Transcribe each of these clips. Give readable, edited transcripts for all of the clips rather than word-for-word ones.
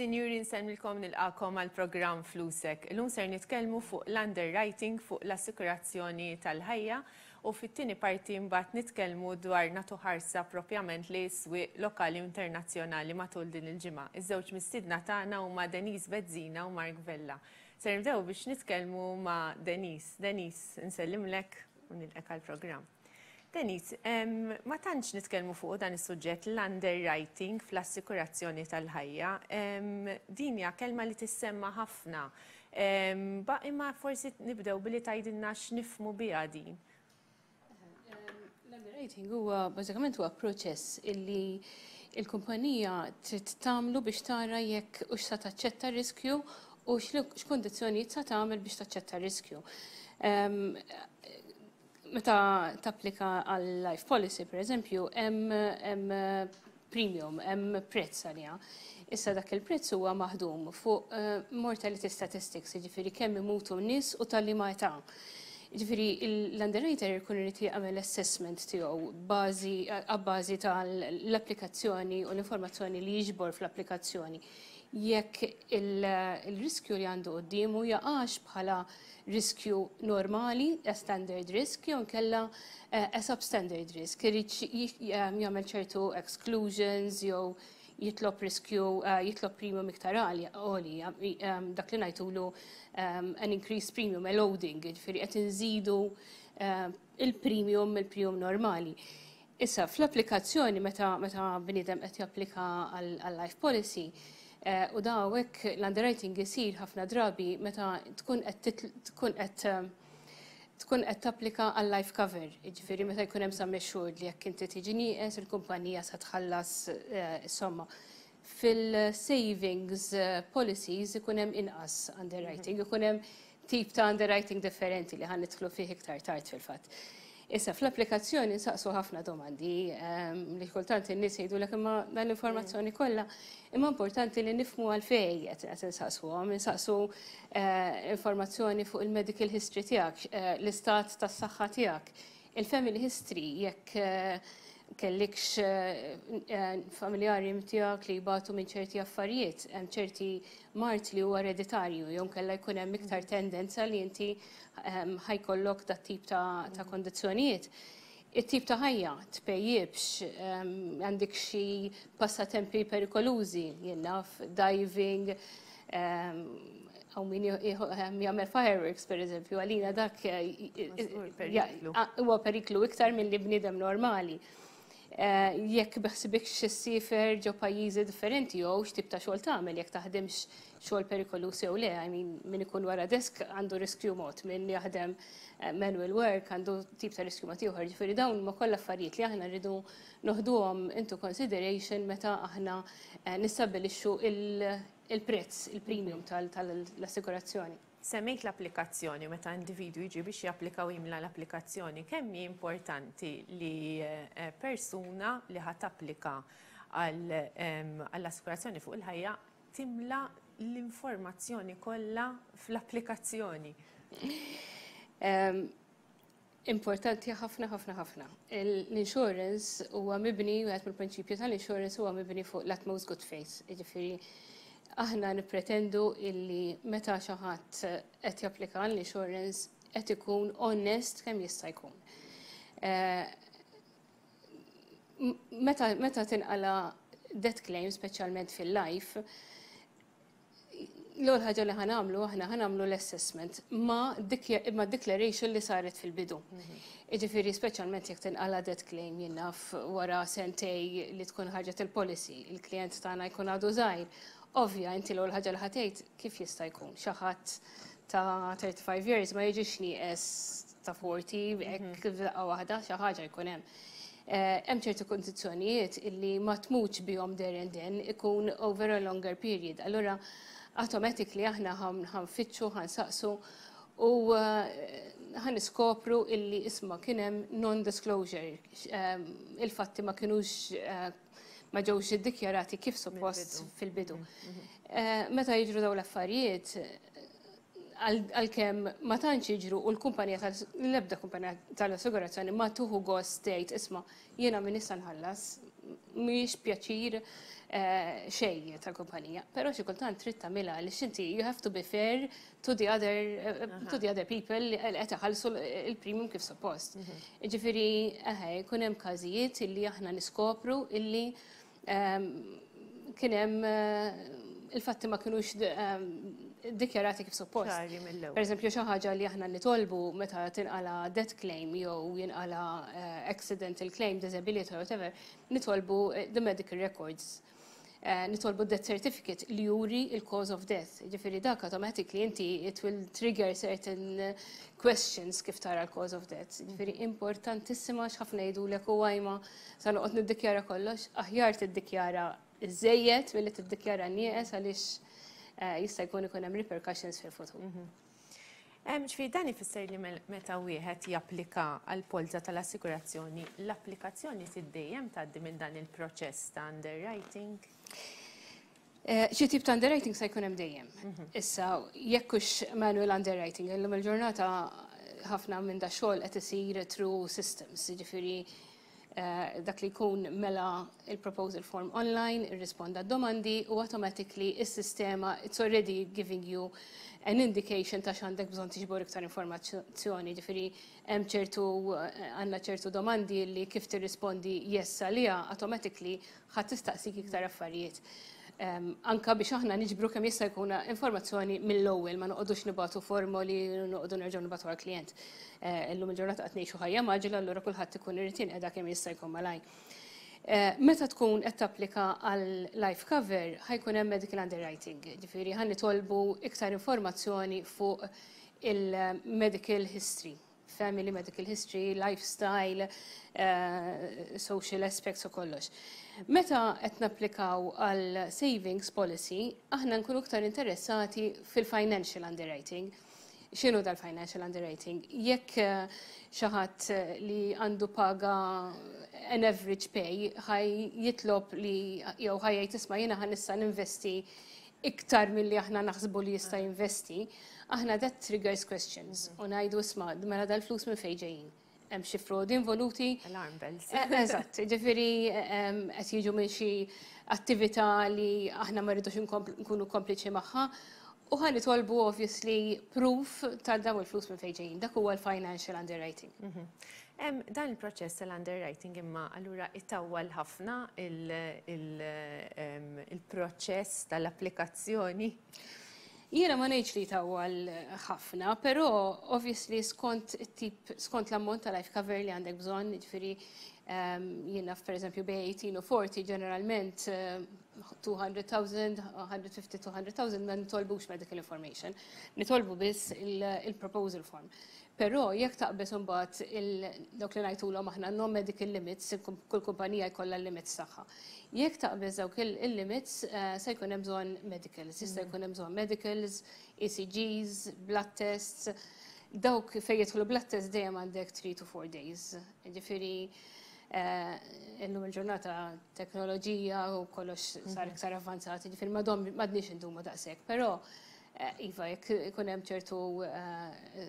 Sinjuri nsellmilkom nilqakom għal programm Flusek. Illum ser nitkellmu fuq l-underwriting fuq l-assikurazzjoni tal-ħajja u fit-tieni parti mbagħad nitkellmu dwar nagħtu ħarsa propjament li s-swieq lokali u internazzjonali matul din il-ġimgħa. Iż-żewġ mistiedna tagħna huma Denise Bezzina u Mark Vella. Ser nibdew biex nitkellmu ma' Denise. Denise, nsellimlek u nilqek għall-programm. Denise, ma tantx nitkellmu fuq dan is-suġġett l-underwriting fl-assikurazzjoni tal-ħajja. Din hija kelma li tissemma ħafna. Ba imma forsi nibdew billi tgħidilna x'nifhmu biha din. L-underwriting huwa bażikament huwa proċess illi il-kumpanija trid tagħmlu biex tara jekk hux sa taċċetta riskju u x'kundizzjonijiet sa tagħmel biex taċċetta riskju. Meta tapplika għal life policy, per eżempju, hemm premium, hemm prezz għaliha. Issa dak il-prezz huwa maħdum fuq eh, mortality statistics, jiġifieri kemm imutu n-nies u tal-liema età. Ġifieri l-underwriter ikun irid jagħmel assessment tiegħu bażi abbażi tal-applikazzjoni u l-informazzjoni li jiġbor fl-applikazzjoni. Jekk il-riskju li għandu quddiemu jaqax bħala riskju normali, a standard risk, jew inkella eh, a substandard risk. Irid jagħmel ċertu exclusions jew jitlob riskju, eh, jitlob premium iktar għoli, eh, dak li ngħidulu an increased premium, a loading, ġifieri qed inżidu il-premium mill-premium normali. Issa, fl-applikazzjoni meta meta bniedem qed japplika għal life policy, eh, u da hawnhekk l-underwriting isir ħafna drabi meta tkun qed tkun qed eh, tkun qed tapplika għal life cover, jiġifieri meta jkun hemm sum assured li jekk inti tiġi nieqes il-kumpanija se tħallas eh, somma. Fil-savings policies ikun hemm inqas underwriting, ikun hemm tip ta' underwriting differenti li ħa nidħlu fih iktar tard fil-fatt. Issa, fl-applikazzjoni nsaqsu ħafna domandi ehm, li kultant in-nies jgħidulek imma dan l-informazzjoni kollha, imma importanti li nifhmu għalfejn qed qed insaqsuhom, insaqsu eh, informazzjoni fuq il-medical history tiegħek, eh, l-istat tas-saħħa tiegħek, il-family history jekk eh, kellikx familjari tiegħek li jbatu minn ċerti affarijiet, hemm ċerti mard li huwa ereditarju, jew kella jkun hemm iktar tendenza li inti ehm, ħa jkollok dat tip ta', ta kondizzjonijiet. It-tip ta' ħajja, tpejjibx, ehm, għandek xi passatempi perikolużi, jien naf, diving, ehm, hawn min jagħmel fireworks per eżempju, għalina dak huwa periklu iktar milli bniedem normali. Eh, jekk beħsibekx issiefer ġo pajjiżi differenti jew x'tip ta' xogħol tagħmel jekk taħdimx xogħol perikoluż jew le, I mean, min ikun wara desk għandu riskju mod, min jaħdem eh, manual work għandu tip ta' riskju mod ieħor. Ġifieri dawn ma kollha affarijiet li aħna rridu noħduhom into consideration meta aħna eh, nistabbilixxu il-prezz, il-premium tal-assigurazzjoni. Semmejt l-applikazzjoni, meta individwu jiġi biex japplika u jimla l-applikazzjoni, kemm hi importanti li eh, persuna li ħa tapplika għall-assikurazzjoni fuq il-ħajja timla l-informazzjoni kollha fl-applikazzjoni? Importanti ħafna ħafna ħafna. L-insurance huwa mibni, wieħed mill-prinċipju tal-insurance huwa mibni fuq l-utmost good faith. Jiġifieri aħna nippretendu illi meta xi ħadd qed japplika l-insurance qed ikun onest kemm jista' jkun. Eh, meta, meta tinqala death claim, speċjalment fil-life, l-ewwel ħaġa li ħa nagħmlu aħna ħa nagħmlu l-assessment ma' ma' declaration li saret fil-bidu. Jiġifieri speċjalment jekk tinqala death claim jien naf wara sentejn li tkun ħarġet il-policy, il-klient tagħna jkun għadu żgħir. Ovvja, inti l-ewwel ħaġa li ħa tgħid kif jista' jkun xi ħadd ta' 35 years ma jiġix nieqes ta' 40, hekk daqqa waħda xi ħaġa jkun hemm. Eh, hemm ċerti kondizzjonijiet illi ma tmutx bihom there and then ikun over a longer period. Allura automatically aħna ħa nfittxu, ħa nsaqsu u eh, ħa niskopru illi isma' kien hemm non-disclosure. Eh, il-fatti ma kinux ma ġewx iddikjarati kif suppost fil-bidu. Meta jiġru dawn l-affarijiet, għalkemm ma tantx jiġru u l-kumpanija tal-ebda kumpanija tal-assigurazzjoni ma tieħu gost tgħid isma' jiena min issa nħallas. mhijiex pjaċir xejn tal-kumpanija, però xi kultant trid tagħmilha għaliex inti you have to be fair to the other people li qed iħallsu il-premium kif suppost. Ġifieri eħe, jkun hemm każijiet illi aħna niskopru illi kien hemm il-fatti ma kinux dikjarati kif suppost. Ċari mill-ewwel. Per eżempju, xi ħaġa li aħna nitolbu meta tinqala death claim jew jinqala accidental claim, disability or whatever, nitolbu the medical records. Nitolbu death certificate li juri il-cause of death. Ġifieri dak automatically inti it will trigger certain questions kif tara l-cause of death. Ġifieri importantissima, x'ħafna jgħidulek u għajma sa noqgħod niddikjara kollox, aħjar tiddikjara iżejjed milli tiddikjara nieqes għaliex jista' jkun ikun hemm repercussions fil-futur. Ġifieri dan ifisser li meta wieħed japplika għal polza tal-assigurazzjoni, l-applikazzjoni dejjem tgħaddi minn dan il-proċess ta' underwriting? Xi tip ta' underwriting se jkun hemm dejjem. Issa, jekk hux manual underwriting, illum il-ġurnata ħafna minn da xogħol qed isir through systems, jiġifieri dak li jkun mela il-proposal form online, irrisponda domandi u automatically is-sistema it's already giving you an indication ta' x'għandek bżonn tiġbor iktar informazzjoni, ġifieri hemm ċertu għandna ċertu domandi li kif tirrispondi yes għaliha automatically ħadd tistaqsik iktar affarijiet. Anka biex aħna niġbru kemm jista' jkun informazzjoni mill-ewwel, ma noqogħdux nibagħtu formoli, noqogħdu nerġgħu nibagħtu għall-klient. Illum il-ġurnata qed ngħixu ħajja mgħaġġla, allura kulħadd ikun irid jinqeda kemm jista' jkun malaj. Meta tkun qed tapplika għal life cover, ħa jkun hemm medical underwriting, ġifieri ħa nitolbu iktar informazzjoni fuq il-medical history, family medical history, lifestyle, social aspects u kollox. Meta qed napplikaw għal savings policy, aħna nkunu iktar interessati fil-financial underwriting. X'inhu dal-financial underwriting? Jekk xi ħadd li għandu paga an average pay ħa jitlob li jew ħa jgħid, "Isma', jiena ħa nista' ninvesti iktar milli aħna naħsbu li jista' jinvesti," aħna that triggers questions. U ngħidu, "Isma', mela dal-flus minn fejn ġejjin? Hemm xi frodi involuti?" Alarm bells. Eżatt, ġifieri qed jiġu minn xi attività li aħna ma rridux nkunu kompliċi magħha. U ħa nitolbu obviously proof ta' dawn il-flus minn fejn ġejjin. Dak huwa l-financial underwriting. Dan il-proċess tal-underwriting imma allura itawwal ħafna il-proċess tal-applikazzjoni? Jiena ma ngħidx li tawwal ħafna, però obviously skont it-tip, skont l-ammont ta' life cover li għandek bżonn, ġifieri jiena per eżempju bejn 18 u 40 ġeneralment 200,000, 150, 200,000 ma nitolbux medical information. Nitolbu biss il-proposal form. Però jekk taqbeż imbagħad dawk li ngħidulhom aħna non-medical limits, kull kumpanija jkollha l-limits tagħha. Jekk taqbeż dawk il-limits, se jkun hemm bżonn medicals, jista' jkun hemm bżonn medicals, ECGs, blood tests. Dawk fejn jidħlu blood tests dejjem għandek 3 to 4 days. Ġifieri illum il-ġurnata teknoloġija u kollox sar iktar avvanzat, ġifieri m'għadniex indumu daqshekk, però iva, jekk ikun hemm ċertu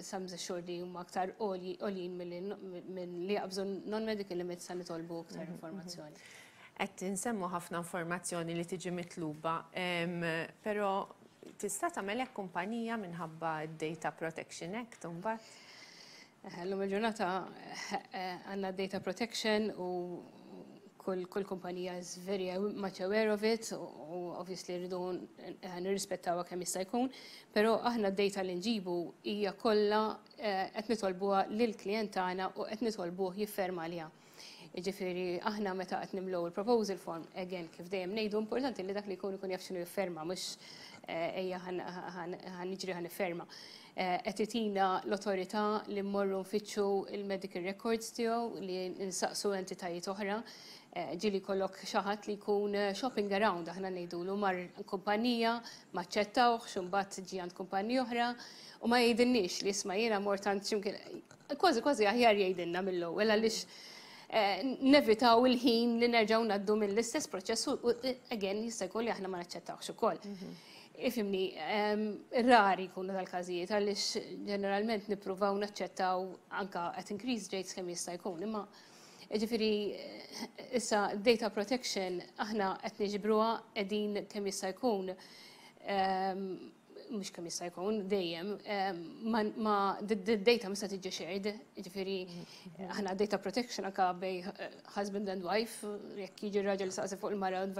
sums assured li huma aktar għoljin minn li jaqbżu non-medical limits, sa nitolbu aktar informazzjoni. Qed insemmu ħafna informazzjoni li tiġi mitluba, però tista' tagħmel hekk kumpanija minħabba d-Data Protection Act imbagħad? Illum il-ġurnata għandna data protection u kull kumpanija is very much aware of it u obviously rridu nirrispettawha kemm jista' jkun, però aħna d-data li nġibu hija kollha qed nitolbuha lill-klient tagħna u qed nitolbuh jifferma għaliha. Jiġifieri aħna meta qed nimlew il-proposal form, again, kif dejjem ngħidu, importanti li dak li jkun ikun jaf x'inhu jifferma, mhux ejja ħa niġri ħa nifferma. Qed itina l-awtorità li mmorru nfittxu il-medical records tiegħu, li nsaqsu entitajiet oħra. Ġieli jkollok xi ħadd li jkun shopping around, aħna ngħidulu, mar kumpanija, ma aċċettawhx, imbagħad ġie għand kumpanija oħra u ma jgħidilniex li, "Isma', jiena mort għand x'imkien." Kważi kważi aħjar jgħidilna mill-ewwel għaliex nevitaw il-ħin li nerġgħu ngħaddu mill-istess proċess u again jista' jkun li aħna ma naċċettawx ukoll. Ifhimni, rari jkunu dal-każijiet għaliex ġeneralment nippruvaw naċċettaw anka at increased rates kemm jista' jkun, imma ġifieri Issa, data protection, aħna qed niġbruha qegħdin kemm jista' jkun, mhux kemm jista' jkun, dejjem, ma data mista tiġi shared, ġifieri aħna data protection anka bejn husband and wife, jekk jiġi raġel saqsi fuq il-mara u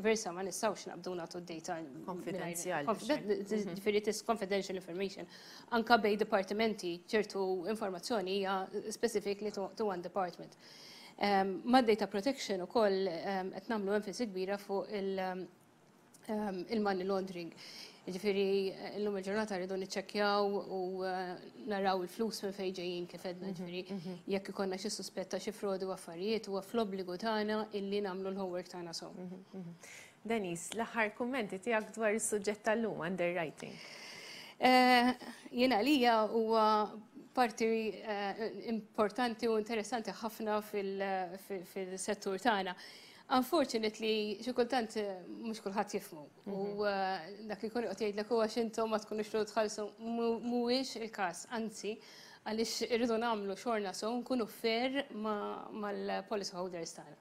versa, ma nistgħux naqbdu nagħtu data. Konfidenzjali. Ġifieri it is confidential information. Anka bejn dipartimenti, ċertu informazzjoni hija specifically to one department. Ma data protection ukoll qed nagħmlu enfasi kbira fuq il-money laundering. Ġifieri, l-lum il-ġurnata rridu niċċekkjaw u naraw il-flus minn fejn ġejjin, kif għedna, ġifieri, jekk ikollna xi suspetta xi frodi u affarijiet, huwa fl-obbligu tagħna illi nagħmlu l-homework tagħna so. Denise, l-aħħar kummenti tiegħek dwar is-suġġett tal-lum, underwriting. Jiena lija huwa parti importanti u interessanti ħafna fil-settur tagħna. Unfortunately, xi kultant mhux kulħadd jifhmu. U dak li jkun qed jgħidlek huwa x'intom ma tkunux tridu tħallsu, mhuwiex il-każ, anzi, għaliex irridu nagħmlu xogħolna so nkunu fair mal-policy holders tagħna.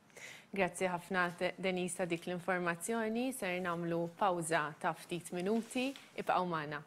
Grazzi ħafna, Denise, ta' dik l-informazzjoni. Ser nagħmlu pawża ta' ftit minuti. Ibqgħu magħna.